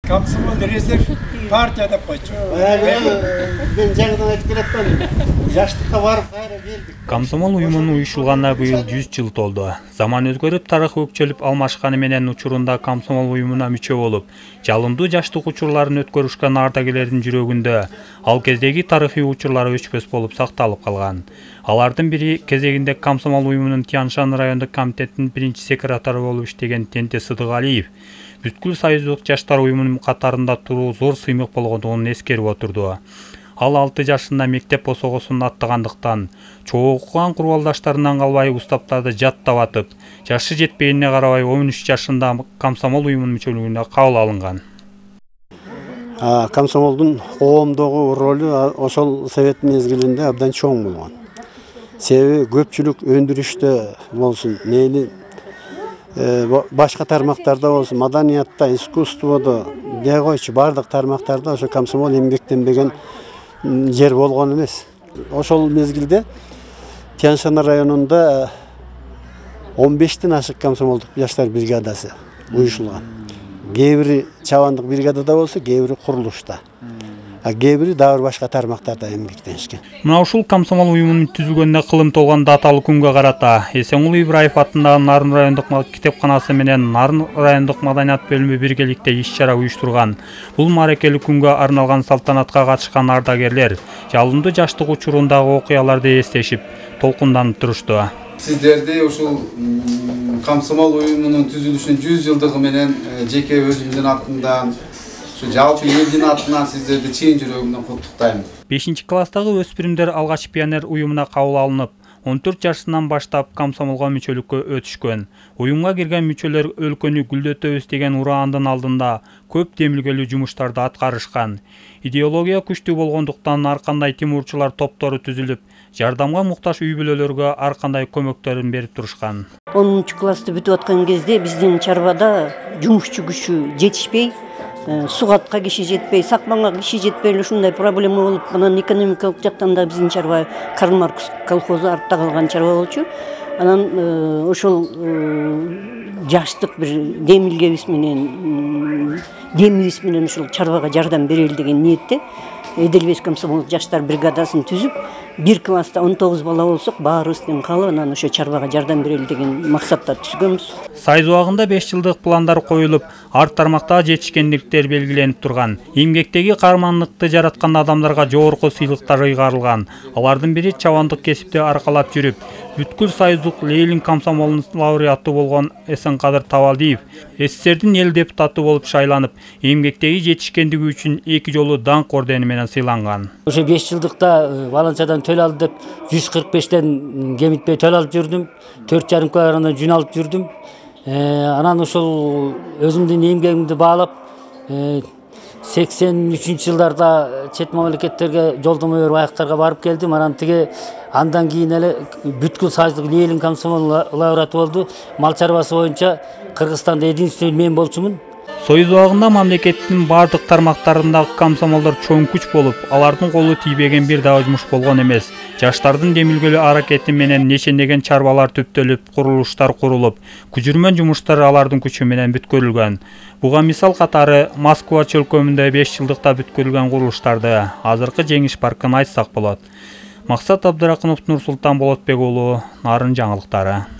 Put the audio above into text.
Комсомол резерв партия деп қойшы. Мен жаңадан айтып келатпадым. Жаштыққа барып қайра келдік. Комсомол уюмунун уюшулганына быйыл 100 жыл толду. Заман өзгөрүп, тарых өкчөлүп алмашканы менен учурунда комсомол уюмуна мүчө болуп, жалындуу жаштык учурларын өткөрүшкөн ардагерлердин жүрөгүндө ал кездеги тарыхый учурлары өчпөс болуп сакталып калган. Алардын бири кезегинде комсомол уюмунун Тянь-Шань райондук комитеттин биринчи секретары болуп иштеген Тенте Сыдыгалиев бүткүл союздук жаштар уюмунун катарында туруу зор сыймык болгондугун эскерип отурду. Ал 6 жашында мектеп босогосун аттагандыктан, чогуу окуган курбалдаштарынан калбай устаптарды жаттап атып, жашы жетпегенине карабай 13 жашында комсомол уюмунун мүчөлүгүнө кабыл алынган. Комсомолдун коомдогу ролу ошол совет мезгилинде абдан чоң болгон. Себеби көпчүлүк өндүрүштө болсун, мейли башка тармактарда болсун, маданиятта, искусстводо, дей койчу бардык тармактарда ошо комсомол эмгектенбеген жер болгон эмес. Ошол мезгилде Тянь-Шань районунда 15тен ашык комсомолдук жаштар бригадасы уюшулган. Кээ бири чабандык бригадада болсо, кээ бири курулушта. Кээ бири дагы башка тармактарда эмгектенишкен. Мына ушул комсомол уюмунун түзүлгөнүнө кылым толгон даталуу күнгө карата Эсенкулу Ибраев атындагы Нарын райондук китепканасы менен Нарын райондук маданият бөлүмү биргеликте иш-чара уюштурган. Бул мааракелик күнгө арналган салтанатка катышкан ардагерлер жалындуу жаштык учурундагы окуяларды эстешип, толкунданып турушту. Сиздерди ушул комсомол уюмунун түзүлүшүнүн 100 жылдыгы менен жеке өзүмдүн атымдан, жалпы элдин атынан сиздерди чын жүрөгүмдөн куттуктайм. 5-класстагы өспүрүмдөр алгач пионер уюмуна кабыл алынып, 14 жашынан баштап комсомолго мүчөлүккө өтүшкөн. Уюмга кирген мүчөлөр өлкөнү гүлдөтөбүз деген ураандын алдында көп демилгелүү жумуштарды аткарышкан. Идеология күчтүү болгондуктан ар кандай тимурчулар топтору түзүлүп, жардамга муктаж үй-бүлөлөргө ар кандай көмөктөрүн берип турушкан. 10-классты бүтүп аткан кезде биздин чарбада жумушчу күчү жетишпей, сугатка киши жетпей, сакманга киши жетпей ушундай проблема болуп, анан экономикалык жактан да биздин чарба Карл Маркс колхозу артта калган чарба болчу. Анан ошол жаштык бир демилгебиз менен ушул чарбага жардам берели деген ниетте Эделбес комсомол жаштар бригадасын түзүп, 1 класста 19 бала болсок, баарыбыздын калып, анан ошо чарбага жардам берели деген максатта түзгөнбүз. Сайыз убагында 5 жылдык пландар коюлуп, ар тармакта жетишкендиктер белгиленип турган. Эмгектеги каармандыкты жараткан адамдарга жогорку сыйлыктар ыйгарылган. Алардын бири чабандык кесипти аркалап жүрүп, бүткүл союздук Ленин комсомолунун лауреаты болгон Эсенкадыр Табалдиев СССРдин эл депутаты болуп шайланып, эмгектеги жетишкендиги үчүн 2 жолу даңк ордени менен сыйланган. Ошо 5 жылдыкта баланчадан төл алды деп 145тен кемитпей төл алып жүрдүм. 4,5 килограммдан жүн алып жүрдүм. Анан ошол өзүмдүн эмгегимди баалап 83-жылдарда чет мамлекеттерге жолдомо берип аяктарга барып келдим. Андан кийин эле бүткүл союздук Ленин комсомол лауреаты болду. Мал чарбасы боюнча Кыргызстанда единственный мен болчумун. Союз убагында мамлекеттин бардык тармактарындагы комсомолдор чоң күч болуп, алардын колу тийбеген бир дагы жумуш болгон эмес. Жаштардын демилгелүү аракети менен нечендеген чарбалар түптөлүп, курулуштар курулуп, күжүрмөн жумуштар алардын күчү менен бүткөрүлгөн. Буга мисал катары Москва чөлкөмүндө 5 жылдыкта бүткөрүлгөн курулуштарды, азыркы Жеңиш паркын айтсак болот. Максат Абдыракынов, Нурсултан Болотбек уулу, Нарын жаңылыктары.